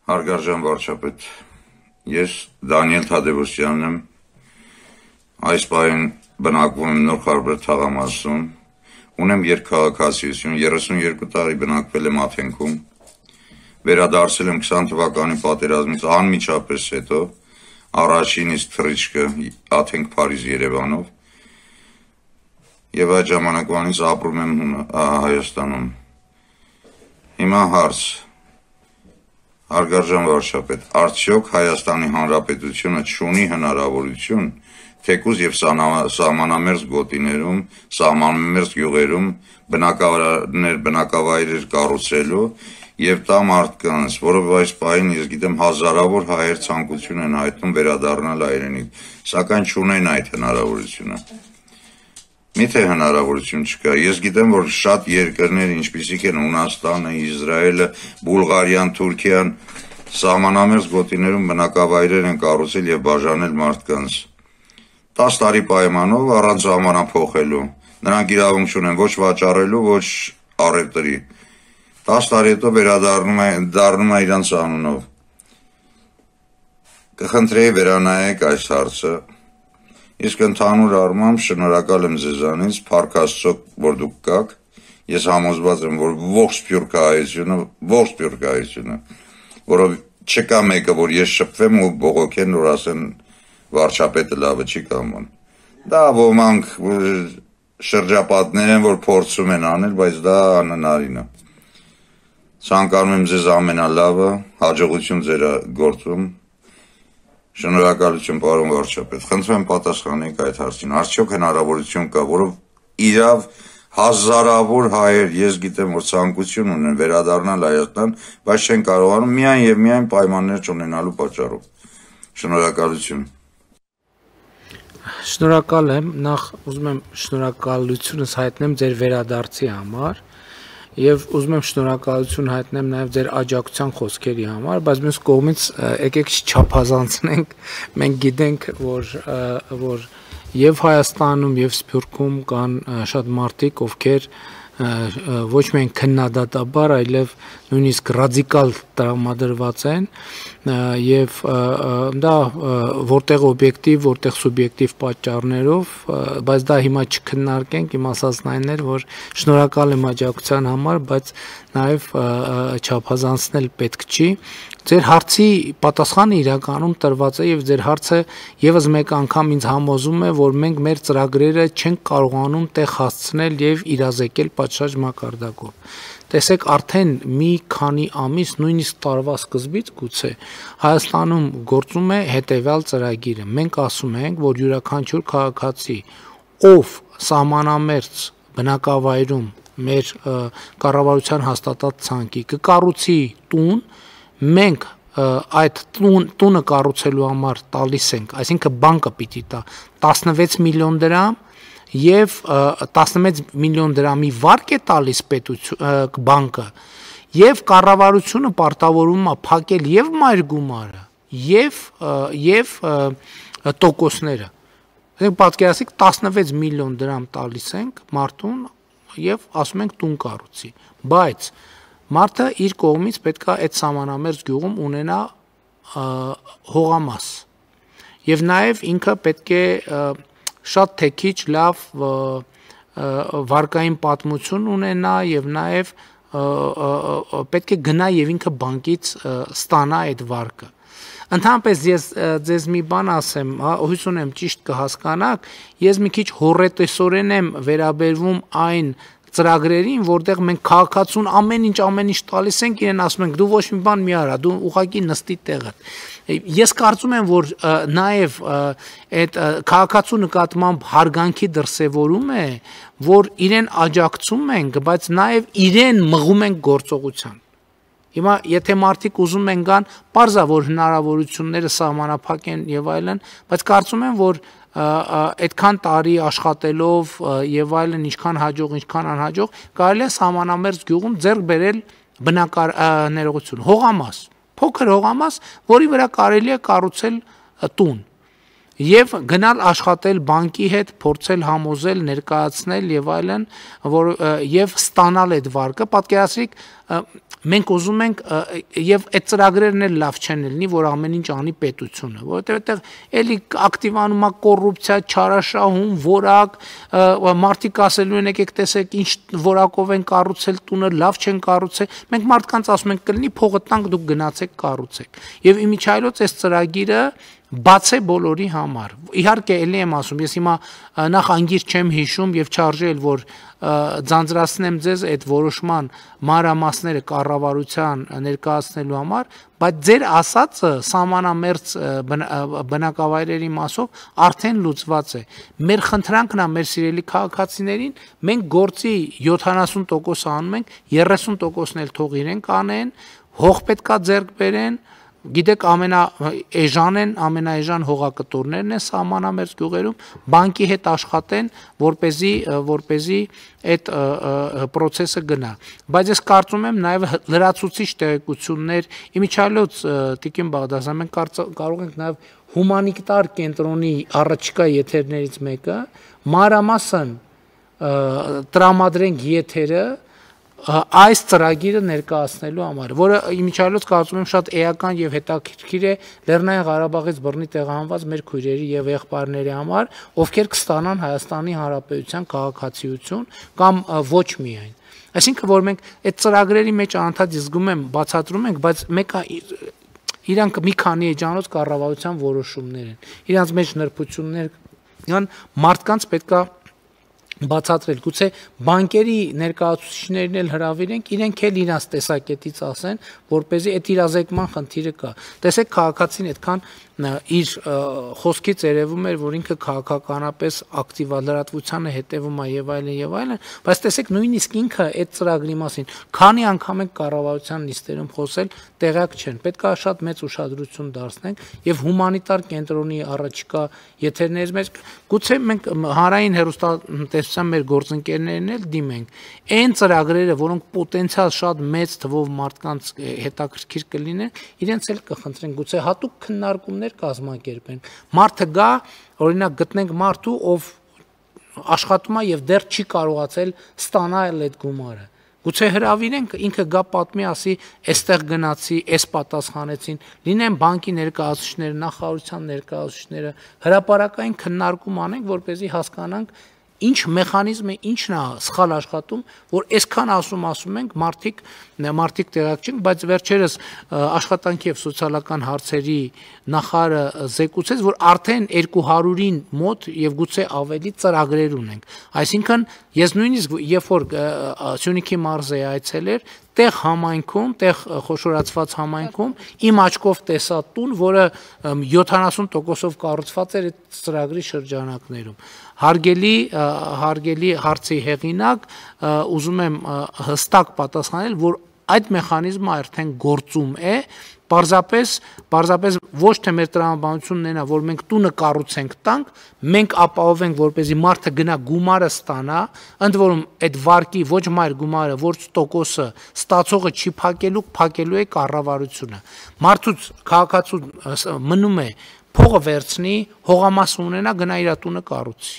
Հարգարժան վարչապետ, ես Դանիել Թադևոսյանն եմ, այս պահին բնակվում եմ Նոր Խարբեր թաղամասում, ունեմ երկքաղաքացիություն, 32 տարի բնակվել եմ Աթենքում, վերադարձել եմ 20 թվականի պատերազմից անմիջապես հետո, առաջին իսկ թռիչքը Աթենք, Փարիզ, Երևանով, եւ այդ ժամանակվանից ապրում եմ Հայաստանում։ Հիմա հարց. Հարգարժան վարչապետ, արդյոք Հայաստանի Հանրապետությունը չունի հնարավորություն թեկուզ եւ սահմանամերձ գոտիներում, սահմանամերձ գյուղերում բնակավայրեր կառուցելու եւ տա մարդկանց, որով այս պահին ես գիտեմ հազարավոր հայեր ցանկություն են հայտնում վերադառնալ հայրենիք, սակայն չունեն այդ հնարավորությունը։ Միթե հնարավորություն չկա։ Ես գիտեմ, որ շատ երկրներ, ինչպիսիք են Հունաստանը, Իսրայելը, Բուլղարիան, Թուրքիան, սահմանամերձ գոտիներում բնակավայրեր են կառուցել եւ բաժանել մարդկանց 10 տարի պայմանով առանց ժամանափոխելու։ Նրանք իրավունք չունեն ոչ վաճառելու, ոչ առևտրի։ 10 տարի հետո վերադառնում է իրանց անունով։ Կխնդրեի վերանայեք այս հարցը։ Իսկ ընդհանուր առմամբ շնորհակալ եմ ձեզանից, փառք Աստծո, որ դուք կաք։ Ես համոզված եմ, որ ողջ Սփյուռքահայությունը, որով չկա մեկը, որ ես շփվեմ ու բողոքեն, որ ասեն վարչապետը լավը չի կամոն։ Դա ոմանք շրջապատներ են, որ փորձում են անել, բայց դա անհնարին է։ Ցանկանում եմ ձեզ ամենալավը, հաջողություն ձեր գործում։ Շնորհակալություն, պարոն վարչապետ։ Խնդրեմ պատասխանեք այդ հարցին։ Արդյոք հնարավորություն կա, որով իրավ հազարավոր հայեր, ես գիտեմ, որ ցանկություն ունեն վերադառնալ Հայաստան, բայց չեն կարողանում միայն եւ միայն պայմաններ չունենալու պատճառով։ Շնորհակալություն։ Շնորհակալ եմ, նախ ուզում եմ շնորհակալությունս հայտնեմ ձեր վերադարձի համար եւ ուզում եմ շնորհակալություն հայտնեմ նաեւ ձեր աջակցության խոսքերի համար, բայց մյուս կողմից եկեք չափազանցնենք, մենք գիտենք, որ եւ Հայաստանում եւ Սփյուռքում կան շատ մարդիկ, ովքեր ոչ միայն քննադատաբար, այլև նույնիսկ ռադիկալ տրամադրված են եւ դա որտեղ օբյեկտիվ, որտեղ սուբյեկտիվ պատճառներով, բայց դա հիմա չքննարկենք, իմ ասածն այն էր, որ շնորհակալ եմ աջակցության համար, բայց նաեւ չափազանցնել պետք չի։ Ձեր հարցի պատասխանը իրականում տրված է եւ ձեր հարցը եւս մեկ անգամ ինձ համոզում է, որ մենք մեր ծրագրերը չենք կարողանում տեղ հասցնել եւ իրազեկել պատշաճ մակարդակով։ Տեսեք, արդեն մի քանի ամիս, նույնիսկ տարվա սկզբից գուցե Հայաստանում գործում է հետեւյալ ծրագիրը։ Մենք ասում ենք, որ յուրաքանչյուր քաղաքացի, ով սահմանամերձ բնակավայրում մեր կառավարության հաստատած ցանկի կկառուցի տուն, մենք այդ տունը կառուցելու համար տալիս ենք, այսինքն բանկը պիտի տա 16 միլիոն դրամ եւ 16 միլիոն դրամի վարկ է տալիս բանկը եւ կառավարությունը պարտավորվում է փակել եւ մայր գումարը եւ տոկոսները։ Այսինքն պատկերացրեք 16 միլիոն դրամ տալիս ենք մարդուն եւ ասում ենք տուն կառուցի, բայց մարդը իր կողմից պետք է այդ սահմանամերձ գյուղում ունենա հողամաս եւ նաեւ ինքը պետք է շատ թեքիչ լավ վարկային պատմություն ունենա եւ նաեւ պետք է գնա եւ ինքը բանկից ստանա այդ վարկը։ Ընդհանրապես ես ձեզ մի բան ասեմ, հույս ունեմ ճիշտ կհասկանաք, ես մի քիչ հոռետեսորեն եմ վերաբերվում այն ծրագրերին, որտեղ մենք քաղաքացուն ամեն ինչ տալիս ենք, իրեն ասում ենք դու ոչ մի բան մի արա, դու ուղղակի նստի տեղդ։ Ես կարծում եմ, որ նաև այդ քաղաքացու նկատմամբ հարգանքի դրսևորում է, որ իրեն աջակցում ենք, բայց նաև իրեն մղում ենք գործողության։ Հիմա եթե մարդիկ ուզում են գան, պարզ է, որ հնարավորությունները սահմանափակ են եւ այլն, բայց կարծում եմ, որ այդքան տարի աշխատելով եւ այլն, ինչքան հաջող, ինչքան անհաջող, կարելի է սահմանամերձ գյուղում ձեռք բերել բնակարարություն, հողամաս, փոքր հողամաս, որի վրա կարելի է կառուցել տուն եւ գնալ աշխատել բանկի հետ, փորձել համոզել, ներկայացնել եւ այլն, որ եւ ստանալ այդ վարկը։ Պատկերացրեք, մենք ուզում ենք եւ այդ ծրագրերն էլ լավ չեն լինի, որ ամեն ինչ անի պետությունը, որովհետեւ այդտեղ էլի ակտիվանում է կոռուպցիա, չարաշահում, որակ, մարդիկ ասելու են եկեք տեսեք ինչ որակով են կառուցել տունը, լավ չեն կառուցել, մենք մարդկանց ասում ենք կլինի փողը տանք, դուք գնացեք կառուցեք։ Եվ իմիջիայլոց այս ծրագիրը բաց է բոլորի համար։ Իհարկե էլի եմ ասում, ես հիմա նախ անգիր չեմ հիշում եւ չարժե էլ որ ձանձրացնեմ ձեզ այդ որոշման մանրամասները կառավարության ներկայացնելու համար, բայց ձեր ասածը սահմանամերձ բնակավայրերի մասով արդեն լուծված է։ Մեր խնդրանքն է մեր սիրելի քաղաքացիներին, մենք գործի 70% անում ենք, 30%-ն էլ թող իրենք անեն, հող պետքա ձեռք բերեն, գիտեք ամենաէժան հողակտորներն են սահմանամերձ գյուղերում, բանկի հետ աշխատեն, որպեսզի այդ process-ը գնա։ Բայց ես կարծում եմ նաև լրացուցիչ տեղեկություններ, իմիջիայլոց Տիկին Բաղդասարյան, մենք կարող ենք նաև հումանիտար կենտրոնի առաջիկա եթերներից մեկը մանրամասն տրամադրենք եթերը այս ծրագիրը ներկայացնելու համար, որը իմիջիայլոց կարծում եմ շատ էական եւ հետաքրքիր է Լեռնային Ղարաբաղից բռնի տեղահանված մեր քույրերի եւ եղբայրների համար, ովքեր կստանան Հայաստանի Հանրապետության քաղաքացիություն կամ ոչ միայն։ Այսինքն որ մենք այդ ծրագրերի մեջ անընդհատ զգում եմ բացատրում ենք, բայց մեկը իրանք մի քանի էջանոց կառավարության որոշումներ են։ Իրանց մեջ նրբություններ կան, մարդկանց պետքա բացատրել, գուցե բանկերի ներկայացուցիչներին էլ հրավիրենք, իրենք էլ իրաց տեսակետից ասեն, որպեսզի այդ իրազեկման խնդիրը կա։ Տեսեք քաղաքացին այդքան իր խոսքից երևում էր, որ ինքը քաղաքականապես ակտիվ լրատվությանը հետևում է եւ այլն, բայց տեսեք նույնիսկ ինքը այդ ծրագրի մասին քանի անգամ ենք կառավարության նիստերում խոսել, տեղյակ չեն։ Պետք է շատ մեծ ուշադրություն դարձնենք եւ հումանիտար կենտրոնի առաջիկա եթերներից մեջ գուցե մենք հանրային հեռուստատեսության մեր գործընկերներն էլ դիմենք։ Այն ծրագրերը, որոնք պոտենցիալ շատ մեծ թվով մարդկանց հետաքրքիր կլինեն, իրենց էլ կխնդրենք գուցե հատուկ քննարկումներ կազմակերպեն։ Մարդը գա, օրինակ գտնենք մարդու, ով աշխատում է եւ դեռ չի կարողացել ստանալ այդ գումարը։ Գուցե հրավիրենք, ինքը գա պատմի, ասի, այստեղ գնացի, այս պատասխանեցին, լինեն բանկի ներկայացուցիչները, նախարարության ներկայացուցիչները, հրապարակային քննարկում անենք, որպեսզի հասկանանք ինչ մեխանիզմ է, ինչն է սխալ աշխատում, որ այսքան ասում ենք, մարդիկ տեղյակ չեն, բայց վերջերս աշխատանքի եւ սոցիալական հարցերի նախարարը զեկուցեց, որ արդեն 200-ին մոտ եւ գուցե ավելի ծրագրեր ունենք։ Այսինքն ես նույնիսկ երբ որ Սյունիքի մարզը այցելեր, տեղ համայնքում, տեղ խոշորացված համայնքում իմ աչքով տեսա տուն, որը 70%-ով կառուցված էր այդ ծրագրի շրջանակներում։ Հարգելի հարցի հեղինակ, ուզում եմ հստակ պատասխանել, որ այդ մեխանիզմը արդեն գործում է, պարզապես ոչ թե մեր տրամաբանությունն է, որ մենք տունը կառուցենք տանք, մենք ապահովենք, որպեսզի մարդը գնա գումարը ստանա, ընդ որում այդ վարկի ոչ մայր գումարը, ոչ տոկոսը ստացողը չի փակելու է կառավարությունը։ Մարդուց քաղաքացու մնում է փողը վերցնի, հողամաս ունենա, գնա իր տունը կառուցի։